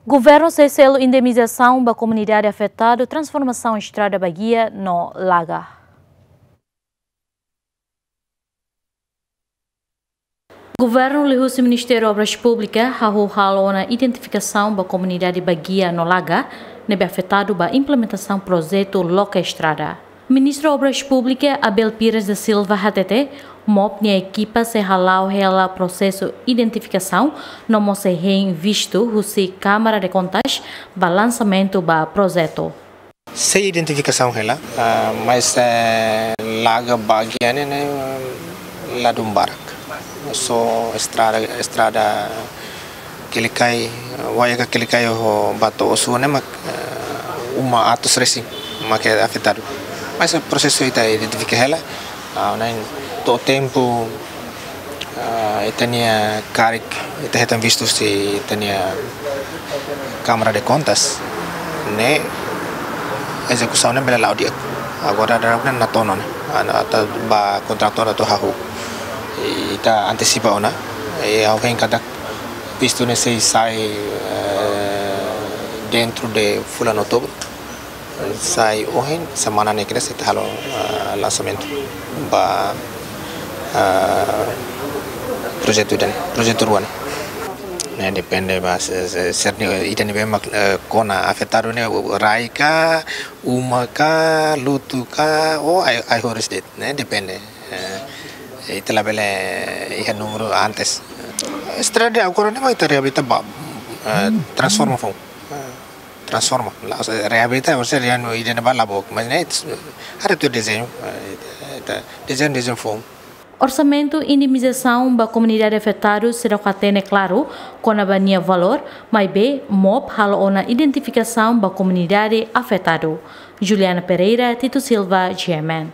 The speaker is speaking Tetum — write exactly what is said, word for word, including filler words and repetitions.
Governu sei selu indemnizasaun ba komunidade afetadu transformasaun estrada Baguia no Laga. Governu liuhusi Ministériu Obras Públikas hahú halo ona identifikasaun ba komunidade Baguia no Laga ne'ebé afetadu ba implementasaun projetu loke estrada. Ministru Obras Públikas Abel Pires da Silva hatete, MOP nia ekipa sei hala'o hela prosesu identifikasaun no mós sei hein vistu husi Câmara de Contas ba lansamentu ba projetu. Sei identifikasaun hela, ah, mas, eh, Laga Baguia ne'e, ne'e ladún barak. Só estrada, estrada Quelicai, Wayaka Quelicai ho ba to'o Ossua ne'e mak, eh, uma atus resin mak afetadu. Mas prosesu ita identifika hela, ah, ne'e to'o tempu, ah, ita-nia karik, ita hetan vistu husi ita-nia Câmara de Contas, ne'e ezekusaun ne'e bele la'o di'ak. Agora daudaun ne'e natoon ona, ah, atu ba kontratór atu hahú. Ita antesipa ona, i ha'u hein katak vistu ne'e sei sai, eh, dentro de fulan Outubru. Sai ohin, semana ne'e kira sei ita halo, ah, lansamentu ba, ah, projetu ida-ne'e, projetu rua ne'e. Ne'e depende ba se, se, se ni, ida ne'ebé mak, eh, kona afetadu ne'e rai ka, uma ka, lutu ka, ou ai, ai-horis de'it, ne'e depende. Eh, ita labele iha númeru antes. Estrada agora ne'e mak ita reabilita ba, eh, transforma foun. Eh, transforma. La, reabilita, ou seja, ida-ne'ebá la book, mas ne'e, haree tuir dezeñu, eh, ita, dezeñu, dezeñu foun. Orsamentu indemnizasaun ba komunidade afetadu seidauk hatene klaru kona-ba nia valór, maibé MOP halo ona identifikasaun ba komunidade afetadu. Juliana Pereira, Tito Silva, G M N.